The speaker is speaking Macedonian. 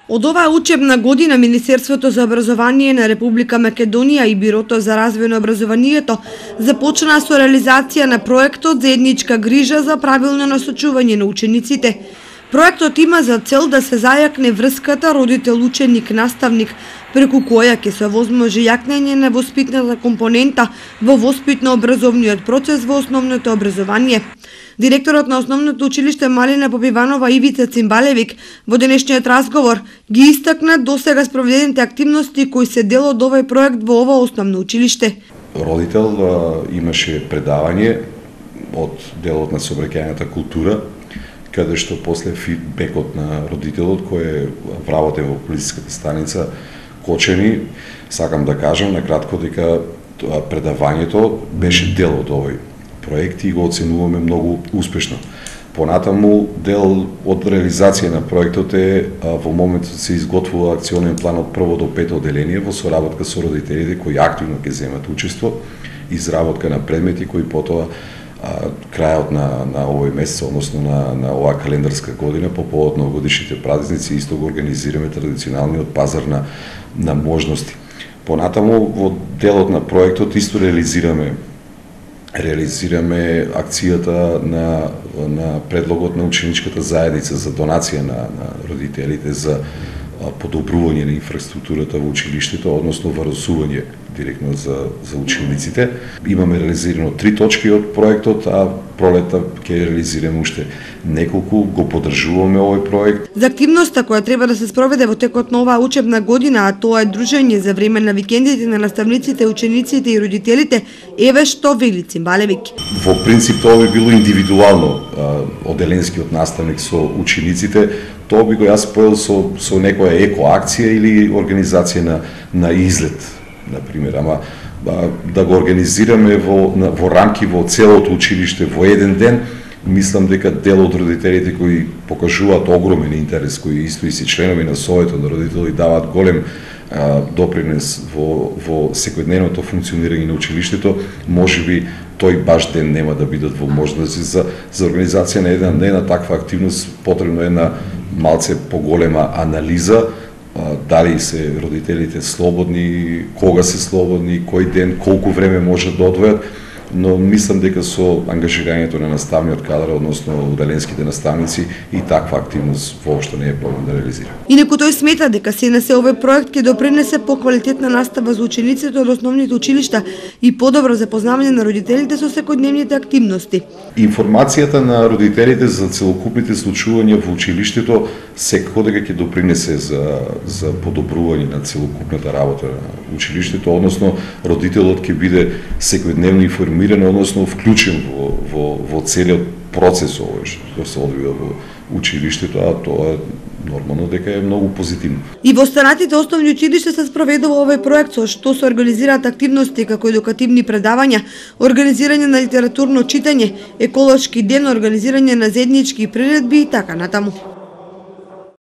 Од оваа учебна година Министерството за образование на Република Македонија и Бирото за развој на образованието започна со реализација на проектот Заедничка грижа за правилно насочување на учениците. Проектот има за цел да се зајакне врската родител-ученик-наставник, преку која ќе се овозможи јакнење на воспитната компонента во воспитно-образовниот процес во основното образование. Директорот на Основното училиште Малина Попиванова Ивица Цимбалевик во денешниот разговор ги истакна досега спроведените активности кои се дел од овој проект во ова основно училиште. Родител имаше предавање од делот на сообраќајната култура, каде што после фидбекот на родителот кој е вработен во полициската станица Кочени, сакам да кажам на кратко дека предавањето беше дел од овој проект и го оценуваме многу успешно. Понатаму дел од реализација на проектот е во моментот се изготвува акционен план од 1 до 5 одделение во соработка со родителите кои активно ќе земат учество, изработка на предмети кои потоа крајот на овој месец, односно на оваа календарска година, по повод новогодишните празници, исто го организираме традиционалниот пазар на можности. Понатаму во делот на проектот исто реализираме акцијата на предлогот на ученичката заедница за донација на родителите за подобрување на инфраструктурата во училиштето, односно варосување директно за учениците. Имаме реализирано 3 точки од проектот, а пролета ќе реализираме уште неколку, го поддржуваме овој проект. За активноста која треба да се спроведе во текот на оваа учебна година, а тоа е дружење за време на викендите на наставниците, учениците и родителите, еве што вели Цимбалевик. Во принцип тоа би било индивидуално одделенскиот наставник со учениците, тоа би го јас поел со некоја екоакција или организација на излет, например, ама да го организираме во рамки во целото училиште во еден ден, мислам дека дел од родителите кои покажуваат огромен интерес, кои исто и се членови на Советот на родители даваат голем допринес во секојдневното функционирање на училиштето, можеби тој баш ден нема да бидат во можности за организација на една таква активност. Потребно е една малце поголема анализа, дали се родителите слободни, кога се слободни, кој ден, колку време можат да одвојат, но мислам дека со ангажирањето на наставниот кадар, односно одделенските наставници, и таква активност воопшто не е проблем да реализира. Инаку тој смета дека СНС овој проект ќе допринесе поквалитетна настава за учениците од основните училишта и подобро запознавање на родителите со секојдневните активности. Информацијата на родителите за целокупните случувања во училиштето секако дека ќе допринесе за подобрување на целокупната работа на училиштето, односно родителот ќе биде секојдневно информиран, односно вклучен во целиот процес овој што се одвива во училиштето, а тоа нормално дека е многу позитивно. И во останатите основни училишта се спроведува овој проект, со што се организираат активности како едукативни предавања, организирање на литературно читање, еколошки ден, организирање на заеднички приредби и така натаму.